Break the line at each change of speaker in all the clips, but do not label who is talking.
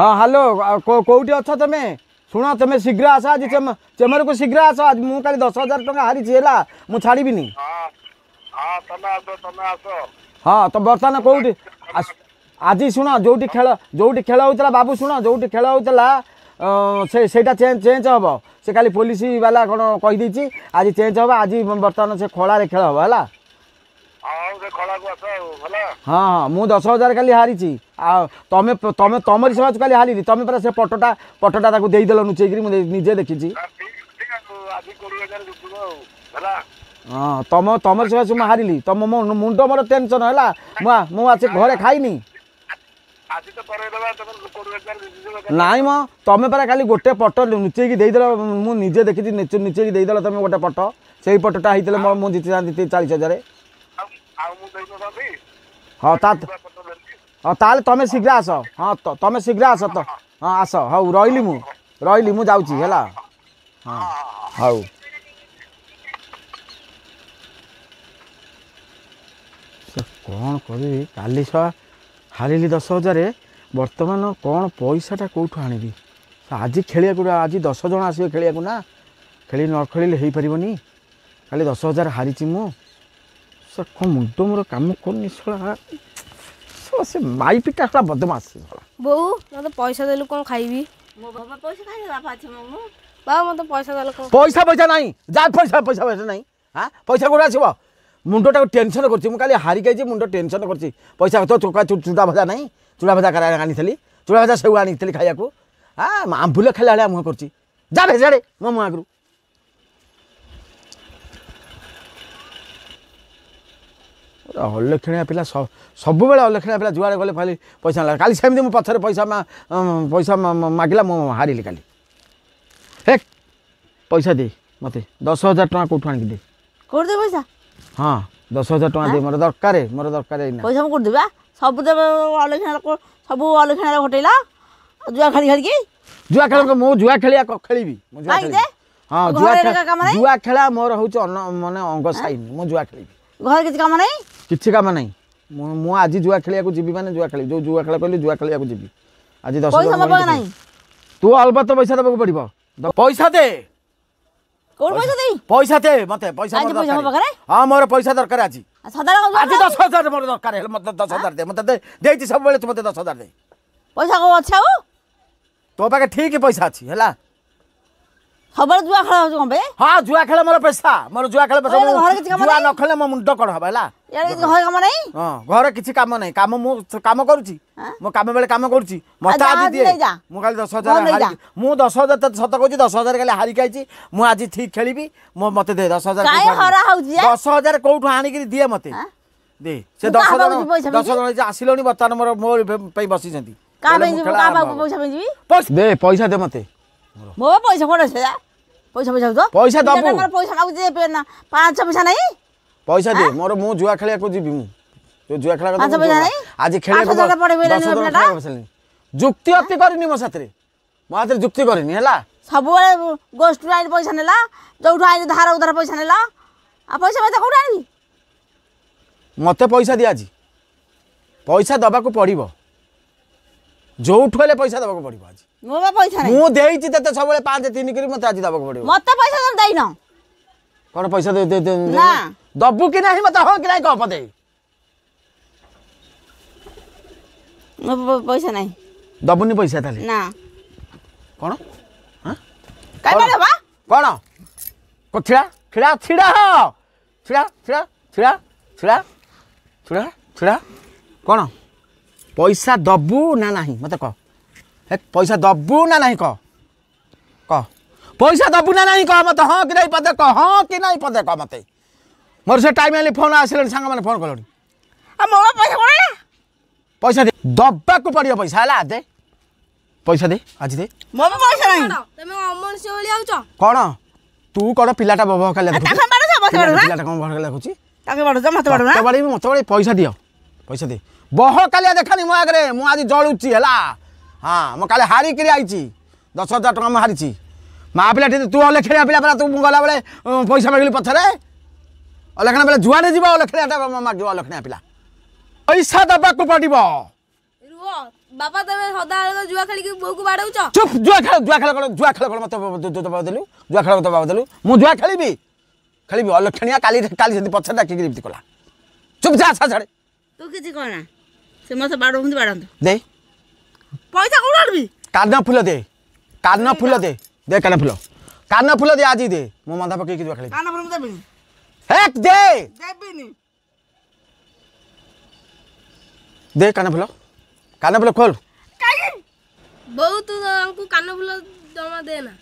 ହଁ ହ୍ୟାଲୋ, କେଉଁଠି ଅଛ ତମେ? ଶୁଣ, ତମେ ଶୀଘ୍ର ଆସ ଆଜି ଚେମରକୁ ଶୀଘ୍ର ଆସ ଆଜି। ମୁଁ କାଲି 10,000 ଟଙ୍କା ହାରିଛି, ହେଲା, ମୁଁ ଛାଡ଼ିବିନି। ହଁ, ତ ବର୍ତ୍ତମାନ କେଉଁଠି ଆଜି? ଶୁଣ, ଯେଉଁଠି ଖେଳ ହେଉଥିଲା, ବାବୁ ଶୁଣ, ଯେଉଁଠି ଖେଳ ହେଉଥିଲା ସେ ସେଇଟା ଚେଞ୍ଜ ହେବ। ସେ କାଲି ପୋଲିସ ବାଲା କ'ଣ କହିଦେଇଛି, ଆଜି ଚେଞ୍ଜ ହେବ। ଆଜି ବର୍ତ୍ତମାନ ସେ ଖଳାରେ ଖେଳ ହେବ, ହେଲା? ହଁ ହଁ, ମୁଁ 10,000 କାଲି ହାରିଛି, ଆଉ ତମେ ତମେ ତମରି ସକାଶେ କାଲି ହାରିଲି। ତମେ ପରା ସେ ପଟଟା ତାକୁ ଦେଇଦେଲ ଲୁଚେଇକିରି, ମୁଁ ନିଜେ ଦେଖିଛି। ହଁ, ତମରି ସକାଶେ ମୁଁ ହାରିଲି। ତମ ମୁଣ୍ଡ ମୋର ଟେନସନ୍ ହେଲା, ମୁଁ ଆସି ଘରେ ଖାଇନି। ନାଇଁ ମ, ତମେ ପରା କାଲି ଗୋଟେ ପଟ ଲୁଚେଇକି ଦେଇଦେଲ, ମୁଁ ନିଜେ ଦେଖିଛି, ଲୁଚେଇକି ଦେଇଦେଲ ତମେ ଗୋଟେ ପଟ। ସେଇ ପଟଟା ହେଇଥିଲେ ମୁଁ ଜିତିଥାନ୍ତି 40,000। ହଁ, ତା ହଁ, ତାହେଲେ ତମେ ଶୀଘ୍ର ଆସ। ହଁ, ତମେ ଶୀଘ୍ର ଆସ ତ। ହଁ, ଆସ। ହଉ, ରହିଲି, ମୁଁ ରହିଲି, ମୁଁ ଯାଉଛି, ହେଲା। ହଁ, ହଉ। କ'ଣ କରିବି? କାଲି ଶଳା ହାରିଲି 10,000। ବର୍ତ୍ତମାନ କ'ଣ ପଇସାଟା କେଉଁଠୁ ଆଣିବି ଆଜି ଖେଳିବାକୁ? ଆଜି 10 ଜଣ ଆସିବେ ଖେଳିବାକୁ ନା, ଖେଳି ନ ଖେଳିଲେ ହେଇପାରିବନି। କାଲି 10,000 ହାରିଛି ମୁଁ। ସେ କ'ଣ ମୁଣ୍ଡ ମୋର କାମ କରୁନି ଶଳା। ସେ ମାଇପିଟା ଶଳା ବଦମାସ ଶଳା।
ବୋଉ, ମୋତେ ପଇସା ଦେଲୁ, କ'ଣ ଖାଇବି?
ମୋ ବାବା ପଇସା ଖାଇବେ? ବାପା ଅଛି ମୁଁ।
ବାବା, ମୋତେ ପଇସା ଦେଲେ କ'ଣ?
ପଇସା ପଇସା ନାହିଁ, ଯା। ପଇସା ପଇସା ପଇସା ନାହିଁ। ହଁ, ପଇସା କୋଉଠୁ ଆସିବ? ମୁଣ୍ଡଟାକୁ ଟେନସନ୍ କରୁଛି। ମୁଁ କାଲି ହାରିକି ଆଇଛି, ମୁଣ୍ଡ ଟେନସନ୍ କରୁଛି। ପଇସା ତ ଚୁଡ଼ା ଭଜା ନାହିଁ। ଚୁଡ଼ା ଭଜା ଆଣିଥିଲି, ଚୁଡ଼ା ଭଜା ସେଉ ଆଣିଥିଲି ଖାଇବାକୁ। ହଁ, ଆମ୍ବୁଲ ଖାଇଲା ଭଳିଆ ମୁହଁ କରୁଛି। ଯା ବେ ସିଆଡ଼େ ମୋ ମୁହଁ ଆଗରୁ। ଅଲକ୍ଷଣିଆ ପିଲା, ସବୁବେଳେ ଅଲକ୍ଷଣିଆ ପିଲା। ଯୁଆଡ଼େ ଗଲେ ଖାଲି ପଇସା ନେଲା। କାଲି ସେମିତି ମୁଁ ପଛରେ ପଇସା ପଇସା ମାଗିଲା, ମୁଁ ହାରିଲି କାଲି। ହେ, ପଇସା ଦେ ମୋତେ, 10,000 ଟଙ୍କା କେଉଁଠୁ ଆଣିକି ଦେ।
କୋଉଠି ଦେବି ପଇସା?
ହଁ, 10,000 ଟଙ୍କା ଦେ, ମୋର ଦରକାର, ମୋର ଦରକାର ଏଇନା
ପଇସା। ମୁଁ କୋଉଠି ଦେବି? ସବୁ ଦେବେ ଅଲକ୍ଷଣା, ସବୁ ଅଲକ୍ଷଣାରେ ଘଟେଇଲା ଜୁଆ ଖେଳି ଖେଳିକି।
ଜୁଆ ଖେଳ? ମୁଁ ଜୁଆ ଖେଳିଆ ଖେଳିବି? ମୁଁ ଜୁଆ ଖେଳିବି? ହଁ, ଜୁଆ ଜୁଆ ଖେଳା ମୋର ହେଉଛି ମାନେ ଅଙ୍ଗ ସାଇନ୍। ମୁଁ ଜୁଆ ଖେଳିବି।
ଘରେ କିଛି କାମ ନାହିଁ?
କିଛି କାମ ନାହିଁ। ମୁଁ ଆଜି ଜୁଆ ଖେଳିବାକୁ ଯିବି, ମାନେ ଜୁଆ ଖେଳିବି। ଯୋଉ ଜୁଆ ଖେଳ କହିଲି, ଜୁଆ ଖେଳିବାକୁ ଯିବି ଆଜି। 10
ନାହିଁ,
ତୁ ଅଳ୍ପ ତ ପଇସା ଦେବାକୁ ପଡ଼ିବ। ପଇସା ଦେ।
କୋଉଠି ପଇସା ଦେଇ?
ପଇସା ଦେ ମତେ ପଇସା। ହଁ, ମୋର ପଇସା ଦରକାର ଆଜି। ଆଜି 10,000 ମୋର ଦରକାର ହେଲେ ମତେ 10,000 ଦେ। ମତେ ଦେଇଛି ସବୁବେଳେ, ତୁ ମତେ 10,000 ଦେ।
ପଇସା କୋଉ ଅଛି ଆଉ?
ତୋ ପାଖେ ଠିକ ପଇସା ଅଛି, ହେଲା?
ସବୁବେଳେ ଜୁଆ ଖେଳ ହଉଛି କଣ ପାଇଁ?
ହଁ, ଜୁଆ ଖେଳ ମୋର ପେସା, ମୋର ଜୁଆ ଖେଳ ପେସା। ଜୁଆ ନ ଖେଳିଲେ ମୋ ମୁଣ୍ଡ କ'ଣ ହବ, ହେଲା?
ଘରେ କାମ ନାହିଁ?
ହଁ, ଘରେ କିଛି କାମ ନାହିଁ। କାମ ମୁଁ କାମ କରୁଛି, ମୁଁ କାମ ବେଳେ କାମ କରୁଛି। ମତେ ଆଜି ଦିଏ। ମୁଁ କାଲି 10,000, ମୁଁ 10,000 ତତେ ସତ କହୁଛି, 10,000 କାଲି ହାରିକି ଆଇଛି। ମୁଁ ଆଜି ଠିକ ଖେଳିବି। ମୁଁ ମତେ ଦେ 10,000। 10,000 କୋଉଠୁ ଆଣିକିରି ଦିଏ ମତେ ଦେ। ସେ 10 ଜଣ, 10 ଜଣ ଆସିଲଣି ବର୍ତ୍ତମାନ, ମୋର ମୋ ପାଇଁ ବସିଛନ୍ତି। ଦେ ପଇସା, ଦେ ମତେ।
ମୋ ପଇସା କୋଉଠି ଅଛି? ପଇସା ପଇସା
ପଇସା ଦବୁ?
ପଇସା ମାଗୁଛି, 5 ପଇସା ନାହିଁ।
ପଇସା ଦେ ମୋର, ମୁଁ ଜୁଆ ଖେଳିବାକୁ ଯିବି। ମୁଁ ଯୋଉ ଜୁଆ ଖେଳ ଆଜି ଖେଳିବାକୁ ଯୁକ୍ତି ଅତି କରିନି ମୋ ସାଥିରେ, ମୋ ହାତରେ ଯୁକ୍ତି କରିନି, ହେଲା?
ସବୁବେଳେ ଗୋଷ୍ଠୀରୁ ଆଣି ପଇସା ନେଲା, ଯୋଉଠୁ ଆଣି ଧାର ଉଧାର ପଇସା ନେଲା, ଆଉ ପଇସା ପଇସା କୋଉଠୁ ଆଣିବି?
ମତେ ପଇସା ଦିଆ ଆଜି। ପଇସା ଦବାକୁ ପଡ଼ିବ, ଯୋଉଠୁ ହେଲେ ପଇସା ଦେବାକୁ ପଡ଼ିବ ଆଜି।
ମୋ ପଇସା
ମୁଁ ଦେଇଛି ତତେ ସବୁବେଳେ 5 3 କରି, ମତେ ଆଜି ଦେବାକୁ ପଡ଼ିବ।
ମତେ ପଇସା ଦେଇନ।
କ'ଣ ପଇସା ଦବୁ କି ନାହିଁ ମତେ? ହଁ କି ନାହିଁ କହ ପଦେ।
ପଇସା ନାହିଁ।
ଦବୁନି ପଇସା ତାହେଲେ?
ନା।
କ'ଣ କ'ଣ ଛିଡ଼ା ଛିଡ଼ା ଛିଡ଼ା, ଛିଡ଼ା ଛିଡ଼ା ଛିଡ଼ା ଛିଡ଼ା ଛିଡ଼ା ଛିଡ଼ା। କ'ଣ ପଇସା ଦବୁ ନା ନାହିଁ ମତେ କହ। ହେ, ପଇସା ଦବୁ ନା ନାହିଁ କହ, କହ। ପଇସା ଦବୁ ନା ନାହିଁ କହ ମତେ। ହଁ କି ନାହିଁ ପଦେ କହ। ହଁ କି ନାହିଁ ପଦେ କହ ମତେ। ମୋର ସେ ଟାଇମ୍ ହେଲି, ଫୋନ୍ ଆସିଲେଣି, ସାଙ୍ଗମାନେ ଫୋନ୍ କଲେଣି।
ମୋ ପଇସା କ'ଣ?
ପଇସା ଦେ, ଦବାକୁ ପଡ଼ିବ ପଇସା, ହେଲା? ଦେ ପଇସା, ଦେ ଆଜି ଦେ।
ମୋ ପଇସା ନାହିଁ।
ତମେ ଅମଣିଷ ଭଳି ଆଉଛ
କ'ଣ? ତୁ କ'ଣ ପିଲାଟା ବବ କାଲି? ପିଲାଟା କ'ଣ ବହ କାଲି ଦେଖୁଛି?
ମତେ
ବାଡ଼େଇବି, ମତେ ବାଡ଼େଇ। ପଇସା ଦିଅ, ପଇସା ଦେ। ବହ କାଲିଆ ଦେଖାନି ମୋ ଆଗରେ, ମୁଁ ଆଜି ଜଳୁଛି, ହେଲା? ହଁ, ମୁଁ କାଲି ହାରିକିରି ଆଇଛି, 10,000 ଟଙ୍କା ମୁଁ ହାରିଛି। ମା ପିଲା ତୁ ଅଲେଖଣିଆ ପିଲା ପରା ତୁ। ମୁଁ ଗଲାବେଳେ ପଇସା ମାଗିଲି ପଛରେ। ଅଲେଖଣା ପିଲା ଯୁଆଡ଼େ ଯିବ ଅଲକ୍ଷଣିଆଟା ମାଗିବ। ଅଲକ୍ଷଣିଆ ପିଲା, ପଇସା ଦେବାକୁ ପଡ଼ିବ।
ରୁହ, ବାପା ତମେ ସଦାବେଳେ ଜୁଆ ଖେଳିକି ବୋଉକୁ ବାଡ଼ଉଛ।
ଚୁପ୍। ଜୁଆ ଖେଳ, ଜୁଆ ଖେଳ କ'ଣ? ଜୁଆ ଖେଳ କ'ଣ? ମତେ ଜବାବ ଦେଲୁ, ଜୁଆ ଖେଳ ଜବାବ ଦେଲୁ। ମୁଁ ଜୁଆ ଖେଳିବି, ଖେଳିବି। ଅଲକ୍ଷଣିଆ, କାଲି କାଲି ସେମିତି ପଛରେ ଡାକିକି ଏମିତି କଲା। ଚୁପ୍, ଯା ଛାଡ଼େ।
ତୁ କିଛି କହନା, ସେ ମତେ ବାଡ଼ଉଛନ୍ତି, ବାଡ଼ାନ୍ତୁ।
ଦେ
ପଇସା। କୋଉଠୁ ଆଣିବି?
କାନ ଫୁଲ ଦେ, କାନ ଫୁଲ ଦେ, ଦେ କାନ ଫୁଲ, କାନ ଫୁଲ ଦେ, ଆଜି ଦେ। ମୁଁ ମନ୍ଦା ପକେଇକି ଜୁଆ ଖେଳିବି।
କାନ ଫୁଲ ମୁଁ ଦେବିନି।
ହେକ୍, ଦେ।
ଦେବିନି।
ଦେ କାନ ଫୁଲ, କାନ ଫୁଲ ଖୋଲ।
ବୋଉ, ତୁ ତାଙ୍କୁ କାନ ଫୁଲ ଜମା ଦେ ନା।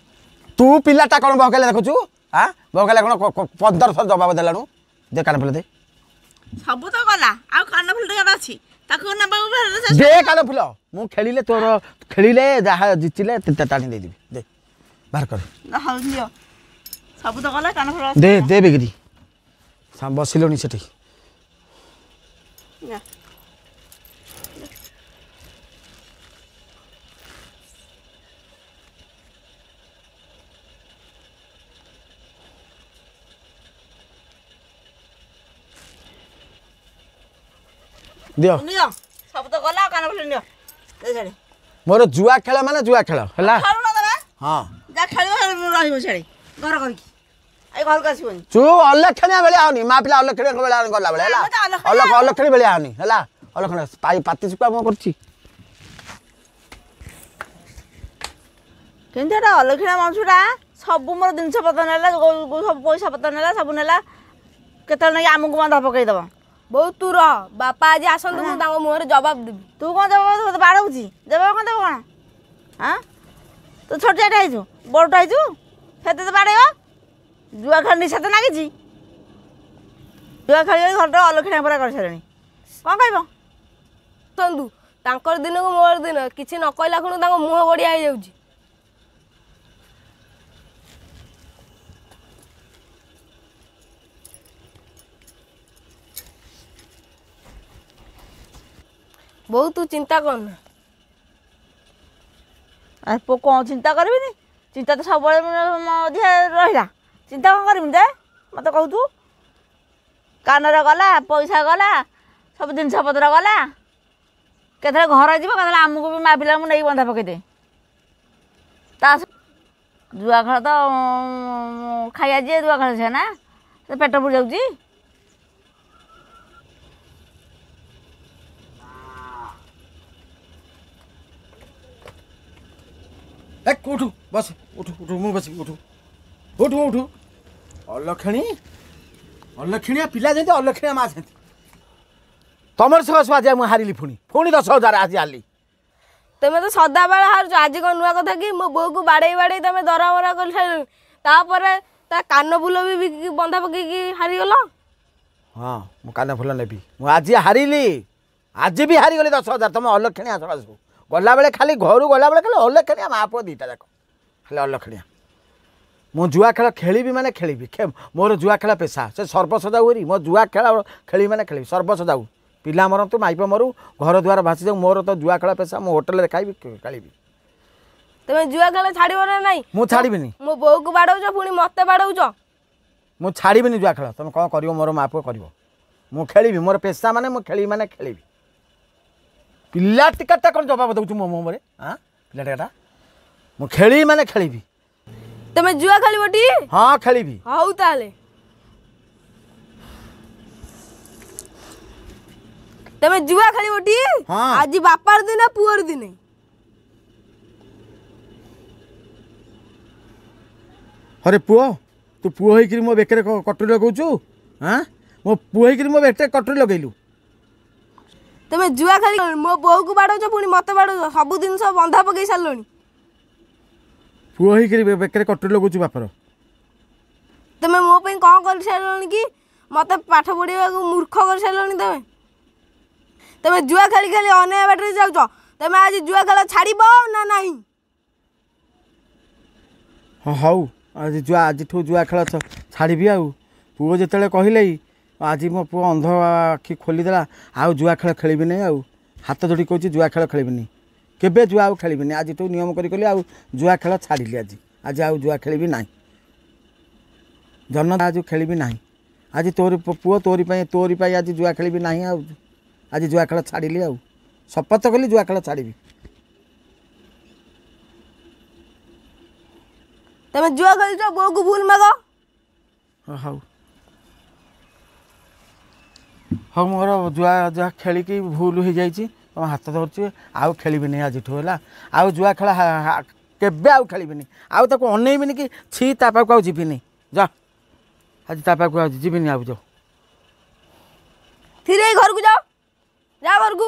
ତୁ ପିଲାଟା କ'ଣ ବହକାଲେ ଦେଖୁଛୁ? ଆଁ, ବହକାଲେ କ'ଣ? 15 ଥର ଜବାବ ଦେଲାଣୁ। ଦେ କାନ ଫୁଲ ଦେ।
ସବୁ ତ ଗଲା, ଆଉ କାନ ଫୁଲ ଟିକେ ଅଛି, ତାକୁ ନେବାକୁ।
ଦେ କାନ ଫୁଲ। ମୁଁ ଖେଳିଲେ, ତୋର ଖେଳିଲେ ଯାହା ଜିତିଲେ ଟାଣି ଦେଇଦେବି। ଦେ, ବାହାର କର।
ହଉ ନିଅ, ସବୁ ତ ଗଲା, କାନ ଫୁଲ
ଦେ, ଦେ ବେଗିରି। ବସିଲୁଣି ସେଠି। ଦିଅ।
ନିଅ, ସବୁ ତ ଗଲା, କାନ ଫୁଲ ନିଅ।
ମୋର ଜୁଆ ଖେଳ ମାନେ ଜୁଆ ଖେଳ ହେଲା। ହଁ,
ଯା ଖେଳିବ, ରହିବ ସିଆଡ଼େ ଘର କରିକି, ଏଇ ଘରକୁ ଆସିବନି।
ତୁ ଅଲକ୍ଷଣିଆ ଭଳିଆ ହଉନି, ମା ପିଲା ଅଲକ୍ଷଣିଆ ଭଳିଆ ଗଲା ବେଳେ ହେଲା। ଅଲକ୍ଷଣୀ ଭଳିଆ ହଉନି ହେଲା, ଅଲକ୍ଷଣ ପାତି ଶୁଖୁଆ ମୁଁ କରୁଛି।
କିନ୍ତୁ ଏଟା ଅଲକ୍ଷଣିଆ ମଣିଷଟା, ସବୁ ମୋର ଜିନିଷ ପତ୍ର ନେଲା, ସବୁ ପଇସା ପତ୍ର ନେଲା, ସବୁ ନେଲା। କେତେବେଳେ ନେଇକି ଆମକୁ ବନ୍ଧା ପକେଇଦବ।
ବୋଉ, ତୁ ରହ, ବାପା ଆଜି ଆସନ୍ତୁ, ମୁଁ ତାଙ୍କ ମୁହଁରେ ଜବାବ ଦେବି।
ତୁ କ'ଣ ଜବାବ ଦେବୁ? ତତେ ବାଡ଼ଉଛି, ଜବାବ କ'ଣ ଦେବୁ? କ'ଣ ଆଁ, ତୁ ଛୋଟିଆଟା ହେଇଛୁ, ବଡ଼ଟା ହେଇଛୁ, ସେ ତତେ ବାଡ଼େଇବ? ଜୁଆ ଖେଳ ନିଶା ତ ନାଗିଛି, ଜୁଆ ଖେଳି ଘରଟା ଅଲକ୍ଷଣିଆ ପୁରା କରିସାରିଲାଣି। କ'ଣ କହିବ?
ଆସନ୍ତୁ, ତାଙ୍କର ଦିନକୁ ମୋର ଦିନ। କିଛି ନ କହିଲା ଖୁଣୁ ତାଙ୍କ ମୁହଁ ବଢ଼ିଆ ହେଇଯାଉଛି। ବୋଉ, ତୁ ଚିନ୍ତା କରନା।
ଆରେ ପୁଅ, କ'ଣ ଚିନ୍ତା କରିବିନି? ଚିନ୍ତା ତ ସବୁବେଳେ ଅଧିକା ରହିଲା। ଚିନ୍ତା କ'ଣ କରିବିନି ଯେ ମୋତେ କହୁଛୁ? କାନରେ ଗଲା, ପଇସା ଗଲା, ସବୁ ଜିନିଷ ପତ୍ର ଗଲା। କେତେବେଳେ ଘର ଯିବ, କେତେବେଳେ ଆମକୁ ବି ମା ପିଲାଙ୍କୁ ନେଇକି ବନ୍ଧା ପକେଇଦେ। ତା ଜୁଆ ଖେଳ ତ ଖାଇବା ଯିଏ ଜୁଆ ଖେଳ ସେ ନା ସେ ପେଟ ପୁରି ଯାଉଛି।
ଉଠୁ, ବସ, ଉଠୁ, ଉଠୁ, ମୁଁ ବସିବି। ଉଠୁ, ଉଠୁ, ଉଠୁ। ଅଲକ୍ଷଣୀ, ଅଲକ୍ଷଣିଆ ପିଲା ଯେମିତି, ଅଲକ୍ଷଣିଆ ମା ସେମିତି। ତମର ସକାଶୁ ଆଜି ମୁଁ ହାରିଲି, ପୁଣି ପୁଣି 10,000 ଆଜି ହାରିଲି।
ତମେ ତ ସଦାବେଳେ ହାରୁଛ, ଆଜି କ'ଣ ନୂଆ କଥା କି? ମୋ ବୋଉକୁ ବାଡ଼େଇ ବାଡ଼େଇ ତମେ ଦରମରା କରିସାରିଲଣି, ତାପରେ ତା କାନ ଫୁଲ ବି ବିକିକି ବନ୍ଧା ପକେଇକି ହାରିଗଲ।
ହଁ, ମୁଁ କାନ ଫୁଲ ନେବି। ମୁଁ ଆଜି ହାରିଲି, ଆଜି ବି ହାରିଗଲି 10,000 ତମ ଅଲକ୍ଷଣିଆ ସକାଶୁ। ଗଲାବେଳେ ଖାଲି, ଘରୁ ଗଲାବେଳେ ଖାଲି ଅଲକ୍ଷଣିଆ, ମା ପୁଅ ଦୁଇଟା ଯାକ ଖାଲି ଅଲକ୍ଷଣିଆ। ମୁଁ ଜୁଆ ଖେଳ ଖେଳିବି ମାନେ ଖେଳିବି। ମୋର ଜୁଆ ଖେଳ ପେସା, ସେ ସର୍ବସ ଯାଉ ହେରି। ମୋ ଜୁଆ ଖେଳ ଖେଳିବି ମାନେ ଖେଳିବି, ସର୍ବସ ଯାଉ, ପିଲା ମରନ୍ତୁ, ମାଇପ ମରୁ, ଘର ଦୁଆର ଭାସି ଯାଉ, ମୋର ତ ଜୁଆ ଖେଳ ପେସା। ମୁଁ ହୋଟେଲରେ ଖାଇବି, ଖେଳିବି।
ତମେ ଜୁଆ ଖେଳ ଛାଡ଼ିବ ନା ନାଇଁ?
ମୁଁ ଛାଡ଼ିବିନି।
ମୋ ବୋଉକୁ ବାଡ଼ଉଛ, ପୁଣି ମତେ ବାଡ଼ଉଛ।
ମୁଁ ଛାଡ଼ିବିନି ଜୁଆ ଖେଳ। ତମେ କ'ଣ କରିବ ମୋର ମା ପୁଅ କରିବ, ମୁଁ ଖେଳିବି। ମୋର ପେସା ମାନେ ମୁଁ ଖେଳିବି ମାନେ ଖେଳିବି। ପିଲା ଟିକାଟା କ'ଣ ଜବାବ ଦେଉଛୁ ମୋ ମୁହଁରେ? ଆଁ, ପିଲା ଟିକାଟା, ମୁଁ ଖେଳିବି ମାନେ ଖେଳିବି।
ତମେ ଜୁଆ ଖେଳିବ ଟି?
ହଁ, ଖେଳିବି।
ହଉ ତାହେଲେ। ତମେ ଜୁଆ ଖେଳିବ ଟି?
ହଁ।
ଆଜି ବାପାର ଦିନ, ପୁଅର ଦିନ।
ଆରେ ପୁଅ, ତୁ ପୁଅ ହେଇକିରି ମୋ ବେକରେ କଟୁରୀ ଲଗାଉଛୁ? ଆଁ, ମୋ ପୁଅ ହେଇକିରି ମୋ ବେକରେ କଟୁରୀ ଲଗେଇଲୁ?
ତମେ ଜୁଆ ଖେଳି ମୋ ବୋଉକୁ ବାଡ଼ଉଛ, ପୁଣି ମତେ ବାଡ଼ଉଛ, ସବୁ ଜିନିଷ ବନ୍ଧା ପକେଇ ସାରିଲଣି।
ପୁଅ ହେଇକିରି ବେକରେ କଟୁରୀ ଲଗାଉଛୁ ବାପର?
ତମେ ମୋ ପାଇଁ କ'ଣ କରିସାରିଲଣି କି? ମତେ ପାଠ ପଢ଼ିବାକୁ ମୂର୍ଖ କରିସାରିଲଣି ତମେ। ତମେ ଜୁଆ ଖେଳି ଖେଳି ଅନ୍ୟାୟ ବାଟରେ ଯାଉଛ। ତମେ ଆଜି ଜୁଆ ଖେଳ ଛାଡ଼ିବ ନା ନାହିଁ?
ହଁ, ହଉ, ଆଜି ଜୁଆ, ଆଜିଠୁ ଜୁଆ ଖେଳ ଛାଡ଼ିବି। ଆଉ ପୁଅ ଯେତେବେଳେ କହିଲେ, ଆଜି ମୋ ପୁଅ ଅନ୍ଧ ଆଖି ଖୋଲିଦେଲା। ଆଉ ଜୁଆ ଖେଳ ଖେଳିବି ନାହିଁ। ଆଉ ହାତ ଯୋଡ଼ି କହୁଛି, ଜୁଆ ଖେଳ ଖେଳିବିନି କେବେ, ଜୁଆ ଆଉ ଖେଳିବିନି। ଆଜିଠୁ ନିୟମ କରି କଲି, ଆଉ ଜୁଆ ଖେଳ ଛାଡ଼ିଲି ଆଜି। ଆଜି ଆଉ ଜୁଆ ଖେଳିବି ନାହିଁ ଜନ, ଆଜି ଖେଳିବି ନାହିଁ। ଆଜି ତୋରି ପୁଅ, ତୋରି ପାଇଁ, ତୋରି ପାଇଁ ଆଜି ଜୁଆ ଖେଳିବି ନାହିଁ। ଆଉ ଆଜି ଜୁଆ ଖେଳ ଛାଡ଼ିଲି, ଆଉ ଶପଥ କଲି ଜୁଆ ଖେଳ ଛାଡ଼ିବି।
ତମେ ଜୁଆ ଖେଳିଛ, ବୋଉକୁ ଭୁଲ ମାଗ।
ହଉ ହଉ, ମୋର ଜୁଆ ଜୁଆ ଖେଳିକି ଭୁଲ ହେଇଯାଇଛି, ତମ ହାତ ଧରୁଛି, ଆଉ ଖେଳିବିନି ଆଜିଠୁ। ହେଲା, ଆଉ ଜୁଆ ଖେଳ କେବେ ଆଉ ଖେଳିବିନି, ଆଉ ତାକୁ ଅନେଇବିନି କି ଛି, ତା ପାଖକୁ ଆଉ ଯିବିନି। ଯା, ଆଜି ତା ପାଖକୁ ଆଉ ଯିବିନି ଆଉ। ଯାଉ
ଥିରେ, ଘରକୁ ଯାଅ, ଯା ଘରକୁ।